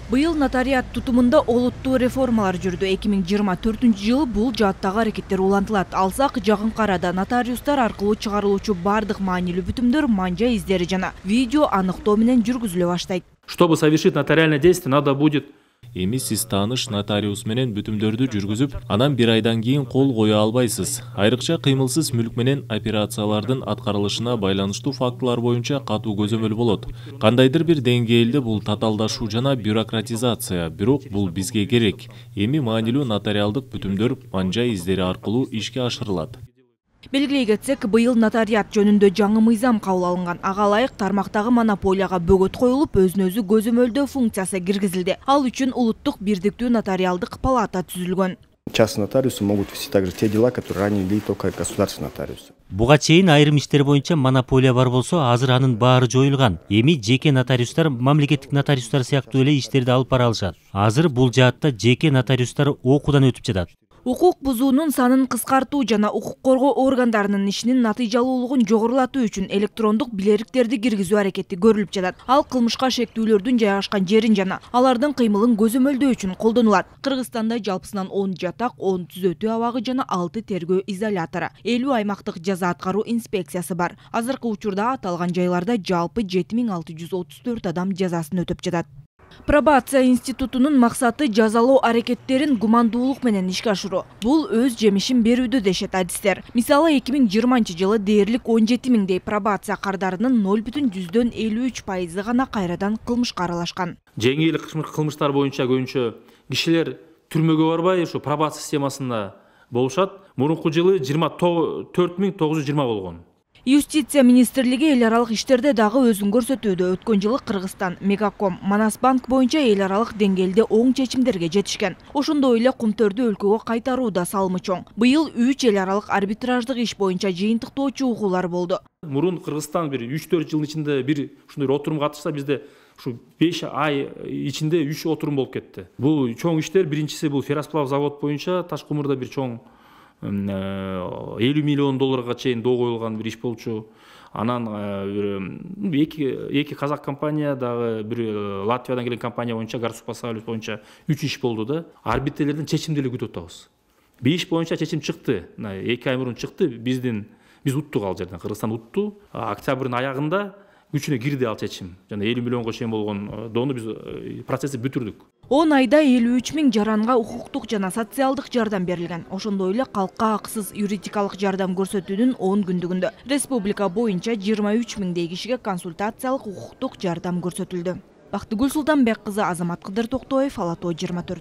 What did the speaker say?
Быйыл нотариат тутумунда олуттуу реформалар жүрдү. 2024-жылы бул жааттагы аракеттер улантылат. Алсак, жакынкы арада нотариустар аркылуу чыгарылуучу бардык маанилүү бүтүмдөр, манжа издери жана видео аныктоо менен жүргүзүлө баштайт. Чтобы совершить нотариальное действие, надо будет Эми сиз тааныш нотариус менен бүтүмдөрдү жүргүзүп, анан 1 айдан кийин кол кое албайсыз. Айрыкча кыймылсыз мүлк менен операциялардын аткарылышына байланыштуу фактылар боюнча катуу көзөмөл болот. Кандайдыр бир деңгээлде бул татаалдашуу жана бюрократизация, бирок бул бизге керек. Эми маанилүү нотариалдык бүтүмдөр манжа издери аркылуу ишке ашырылат. Белгилей кетсек, быйыл нотариат жөнүндө жаңы мыйзам кабыл алынган. Ага ылайык тармактагы монополияга бөгөт коюлуп, өзүн-өзү көзөмөлдөө функциясы киргизилди. Ал үчүн улуттук бирдиктүү нотариалдык палата түзүлгөн. Частные нотариусы могут вести также те дела, которые ранее вели только государственные нотариусы. Буга чейин айрым иштер боюнча монополия бар болсо, азыр анын баары жоюлган. Эми жеке нотариустар мамлекеттик нотариустар сыяктуу эле иштерди алып бара алышат. Азыр бул жаатта жеке нотариустар окуудан өтүп жатат. Укук бузуунун санын кыскартуу жана укук коргоо органдарынын ишинин натыйжалуулугун жогорулатуу үчүн электрондук билериктерди киргизүү аракети көрүлүп жатат. Ал кылмышка шектүүлөрдүн жайгашкан жерин жана алардын кыймылын көзөмөлдөө үчүн колдонулат. Кыргызстанда жалпысынан 10 жатак, 10 түзөтүү абагы жана 6 тергөө изолятору, 50 аймактык жаза аткаруу инспекциясы бар. Азыркы учурда аталган жайларда жалпы 7634 адам жазасын өтөп жатат. Пробация институтунун максаты жазалоо аракеттерин гумандуулук менен ишке ашыруу. Бул өз жемишин берүүдө дешет адистер. Мисалы 2020-жылы дээрлик 17 миңдей пробация кардарынын 0,53% гана кайрадан кылмышка аралашкан. жеңил кылмыштар боюнча көбүнчө кишилер түрмөгө барбай ушу пробация системасында болушат. Мурунку жылы 24920 болгон. Юстиция министрлиги эл аралык иштерде дагы өзүн көрсөтүүдө. Өткөн жылы Кыргызстан, Мегаком, Манасбанк боюнча эл аралык деңгээлде оң чечимдерге жетишкен. Ошондой эле Кумтөрдү өлкөгө кайтаруу да салымы чоң. Быйыл 3 эл аралык арбитраждык иш боюнча жыйынтыктоочу угуулар болду. Мурун Кыргызстан бир 3-4 жылдын ичинде бир ушундай отурум катышса, бизде ушу 5 ай ичинде 3 отурум болуп кетти. Бул чоң иштер, биринчиси бул ферросплав завод боюнча Ташкумурда бир чоң 50 миллион долларга чейин доо коюлган бир иш болчу. Анан эки казак компания дагы бир Латвиядан келген компания боюнча Гарсупасалюс боюнча 3 иш болду да. Арбитрлердин чечимди эле күтүп атабыз. 5 боюнча чечим чыкты. 2 ай мурун чыкты. Биз уттук ал жерден. Кыргызстан утту. Октябрдын аягында күчүнө кирди ал чечим. Жана 50 миллионго чейин болгон доону биз процессти бүтүрдүк. 10 айда 53 миң жаранга укуктук жана социалдык жардам берилген. Ошондой эле калкка акысыз юридикалык жардам көрсөтүүнүн 10 күндүгүндө республика боюнча 23 миңдей кишиге консультациялык укуктук жардам көрсөтүлдү. Бактыгүл Султанбек кызы, Азамат Кыдыр Токтоев, Ала Тоо 24.